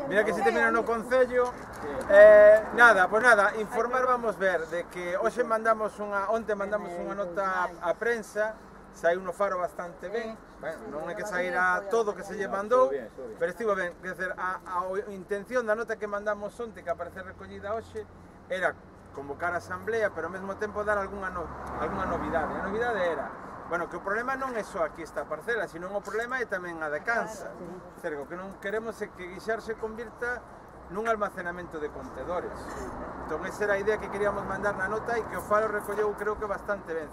Mira que se termina no Concello. Nada, pues nada, informar vamos ver de que onte mandamos unha nota á prensa, saiu no Faro bastante ben, non hai que sair a todo que se lle mandou, pero estivo ben, quer dizer, a intención da nota que mandamos onte, que aparece recollida hoxe, era convocar a asamblea, pero ao mesmo tempo dar algunha novidade. A novidade era, bueno, que o problema non é só aquí esta parcela, sino o problema é tamén a de Cansa. O que non queremos é que Guixar se convirta nun almacenamento de contedores. Entón, esa era a idea que queríamos mandar na nota e que o Faro recolleu, creo que bastante ben.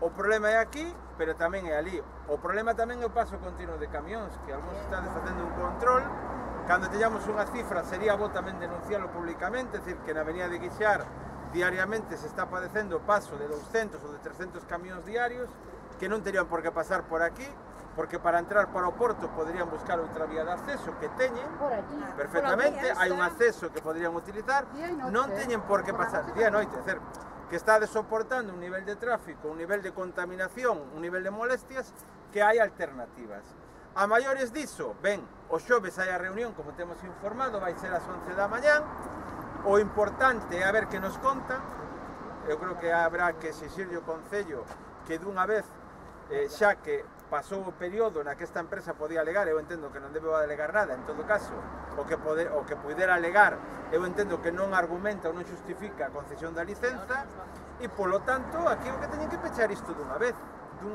O problema é aquí, pero tamén é ali. O problema tamén é o paso continuo de camións, que algúns están facendo un control. Cando teñamos unha cifra, sería bo tamén denuncialo públicamente, é dicir, que na avenida de Guixar diariamente se está padecendo o paso de 200 ou de 300 camións diarios que non terían por que pasar por aquí, porque para entrar para o porto poderían buscar outra vía de acceso que teñen perfectamente, hai un acceso que poderían utilizar, non teñen por que pasar día e noite, é dicir, que está soportando un nivel de tráfico, un nivel de contaminación, un nivel de molestias, que hai alternativas. A maiores diso, ben, o xoves hai a reunión, como temos informado, vai ser ás 11 da mañán. O importante é a ver que nos contan. Eu creo que habrá que exixirlle o Concello que dunha vez, xa que pasou o período na que esta empresa podía alegar, eu entendo que non debe alegar nada, en todo caso, o que pudera alegar, eu entendo que non argumenta ou non xustifica a concesión da licenza, e polo tanto, aquí o que teñen que pechar isto dunha vez, non?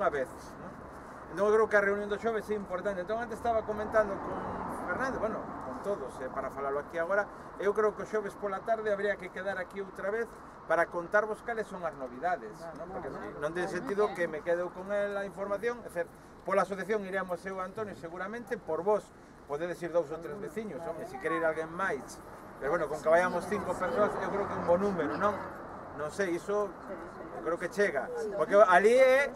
Entón, eu creo que a reunión do xoves é importante. Entón, antes estaba comentando con Fernando, bueno, con todos, para falalo aquí agora, eu creo que o xoves pola tarde habría que quedar aquí outra vez para contarvos cales son as novidades, non? Porque non ten sentido que me quedo con a información, é dicir, pola asociación iremos eu e Antonio seguramente, por vos podedes ir 2 ou 3 veciños, home, se quere ir alguén máis, pero bueno, con que vayamos 5 persoas, eu creo que é un bo número, non? Non sei, iso eu creo que chega, porque ali é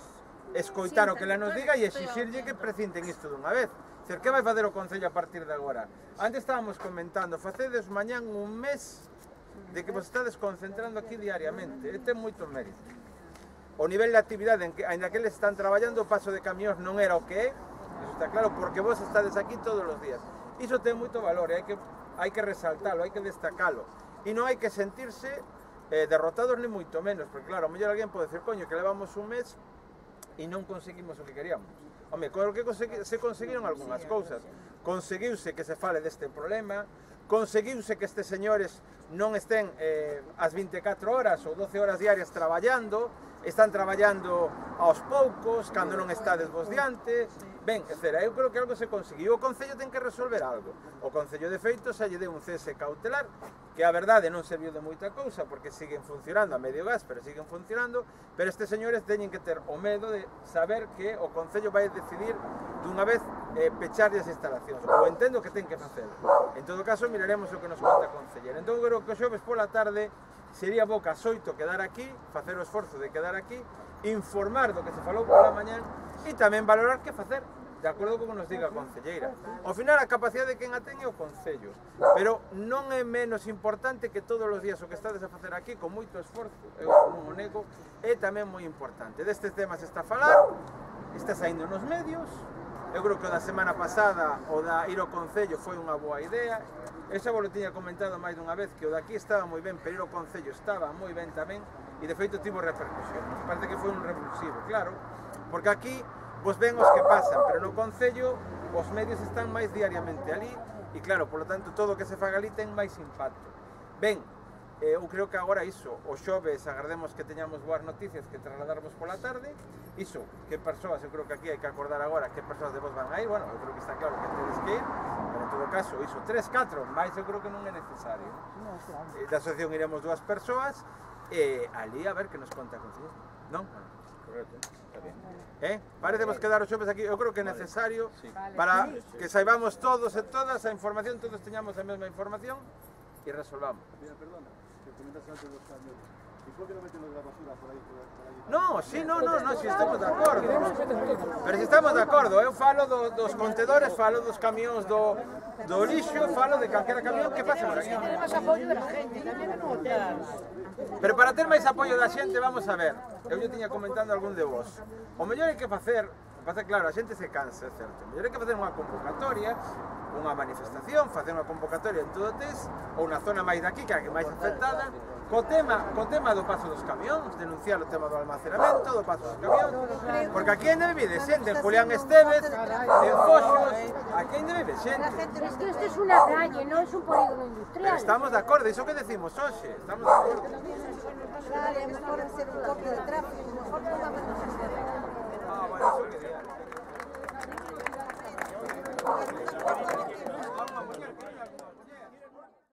escoitar o que ela nos diga e exixirlle que precinten isto dunha vez. Ser, que vai facer o Concello a partir de agora? Antes estábamos comentando, facedes mañán un mes de que vos estades concentrando aquí diariamente, e ten moito mérito. O nivel de actividade, ainda que eles están traballando, o paso de camións non era o que é, eso está claro, porque vos estades aquí todos os días. Iso ten moito valor, e hai que resaltalo, hai que destacalo. E non hai que sentirse derrotados ni moito menos, porque claro, a mellor alguén pode decir, coño, que levamos un mes e non conseguimos o que queríamos. Home, con o que se conseguiron algunhas cousas. Conseguiuse que se fale deste problema, conseguiuse que estes señores non estén as 24 horas ou 12 horas diarias traballando, están traballando aos poucos, cando non estades vos diante. Ben, eu creo que algo se conseguiu. O Concello ten que resolver algo. O Concello, de feito, xa lle deu un cese cautelar, que a verdade non serviu de moita cousa, porque siguen funcionando a medio gas, pero siguen funcionando, pero estes señores teñen que ter o medo de saber que o Concello vai decidir dunha vez pecharlle as instalacións. Ou entendo que ten que facer. En todo caso, miraremos o que nos conta a Concelleira. Entón, creo que o xoves pola tarde sería bo que ás 8 quedar aquí, facer o esforzo de quedar aquí, informar do que se falou pola mañán e tamén valorar que facer, de acordo con que nos diga a Concelleira. Ao final, a capacidade de quen a ten é o Concello, pero non é menos importante que todos os días o que estades a facer aquí con moito esforzo, eu non o nego, é tamén moi importante. Destes temas está a falar, está saindo nos medios, eu creo que o da semana pasada o da ir ao Concello foi unha boa idea. Eu xa vos lo tiña comentado máis dunha vez, que o daqui estaba moi ben, pero ir ao Concello estaba moi ben tamén, e de feito tivo repercusión. Parece que foi un revulsivo, claro, porque aquí vos ven os que pasan, pero no Concello os medios están máis diariamente ali, e claro, polo tanto, todo o que se faga ali ten máis impacto. Ben, eu creo que agora iso, o xoves agardemos que teñamos boas noticias que trasladarvos pola tarde. Iso, que persoas, eu creo que aquí hai que acordar agora que persoas de vos van a ir, bueno, eu creo que está claro que tedes que ir, pero en todo caso, iso, 3, 4, máis eu creo que non é necesario. Da asociación iremos 2 persoas, e ali a ver que nos conta a Concelleira, non? Correcto, está bien. Parecemos quedar os xoves aquí, eu creo que é necesario para que saibamos todos e todas a información, todos teñamos a mesma información e resolvamos. Perdona, que comentaste antes dos camiones. ¿Y por qué no meten los de la basura por ahí? No, si, si estamos de acordo. Pero si estamos de acordo, eu falo dos contedores, falo dos camións do lixo, falo de calquera camión que pase por aquí. Pero para ter máis apoio da xente, vamos a ver, eu lle tiña comentando algún de vos. O mellor hai que facer, pasa que, claro, a xente se cansa, é certo. Mellor hai que facer unha convocatoria, unha manifestación, facer unha convocatoria en todo o TES, ou na zona máis daqui, que é a que máis afectada, co tema do paso dos camións, denunciar o tema do almacenamento, do paso dos camións, porque aquí ainda vive xente, en Julián Esteves, en Foxos, aquí ainda vive xente. Es que esto es una calle, no es un polígono industrial. Pero estamos de acordo, iso que decimos hoxe, estamos de acordo. Claro, é mejor hacer un copio de tráfico, mejor